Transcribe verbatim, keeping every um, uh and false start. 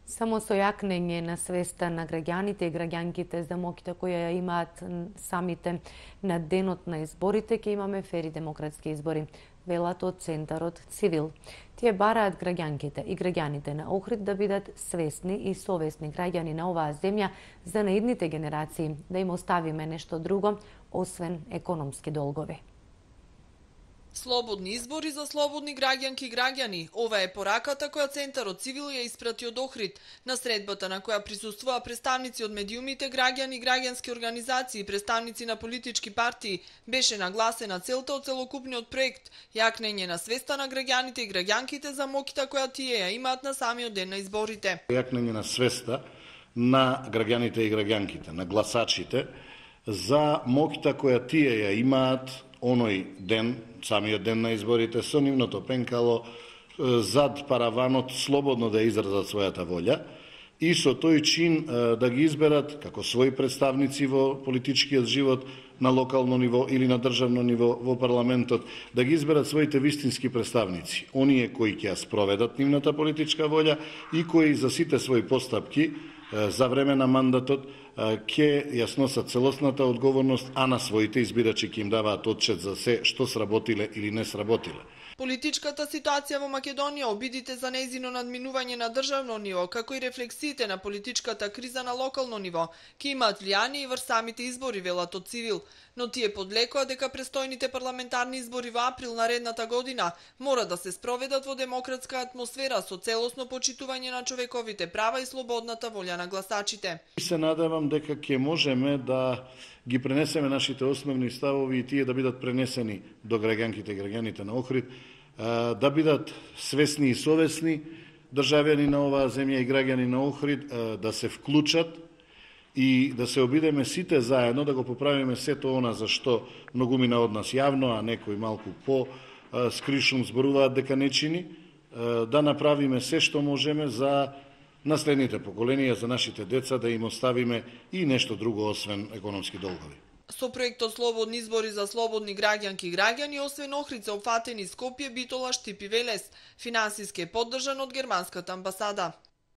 Само со јакнење на свеста на граѓаните и граѓанките за моќта која ја имаат самите на денот на изборите, ќе имаме фери демократски избори, велат од Центарот Цивил. Тие бараат граѓанките и граѓаните на Охрид да бидат свесни и совесни граѓани на оваа земја за наидните генерации, да им оставиме нешто друго, освен економски долгови. Слободни избори за слободни граѓанки и граѓани. Ова е пораката која Центарот Цивил ја испрати од Охрид, на средбата на која присуствуваа представници од медиумите, граѓани, граѓански организации, представници на политички партии. Беше нагласена целта од целокупниот проект, јакнење на свеста на граѓаните и граѓанките за моќта која тие ја имаат на самиот ден на изборите. Јакнење на свеста на граѓаните и граѓанките, на гласачите, за моќта која тие ја имаат оној ден, самиот ден на изборите, со нивното пенкало зад параванот слободно да изразат својата волја и со тој чин да ги изберат како своји представници во политичкиот живот на локално ниво или на државно ниво во парламентот, да ги изберат своите вистински представници, оние кои ќе ја спроведат нивната политичка волја и кои за сите своји постапки за време на мандатот ќе ја сносат целосната одговорност, а на своите избирачи ќе им даваат отчет за се што сработиле или не сработиле. Политичката ситуација во Македонија, обидите за нејзино надминување на државно ниво, како и рефлексиите на политичката криза на локално ниво, ќе имаат влијание и врз самите избори, велат од Цивил. Но тие подлекоа дека престојните парламентарни избори во април наредната година мора да се спроведат во демократска атмосфера со целосно почитување на човековите права и слободната волја на гласачите. Се надевам дека ќе можеме да ги пренесеме нашите основни ставови и тие да бидат пренесени до граѓанките и граѓаните на Охрид, да бидат свесни и совесни државјани на оваа земја и граѓани на Охрид, да се вклучат и да се обидеме сите заедно да го поправиме сето она за што многумина од нас јавно, а некои малку по скришум зборуваат дека не чини, да направиме се што можеме за наследните поколенија, за нашите деца, да им оставиме и нешто друго освен економски долгови. Со проектот Слободни избори за слободни граѓанки и граѓани, освен Охрид се опфатени Скопје, Битола, Штип и Велес. Финансиски е поддржан од германската амбасада.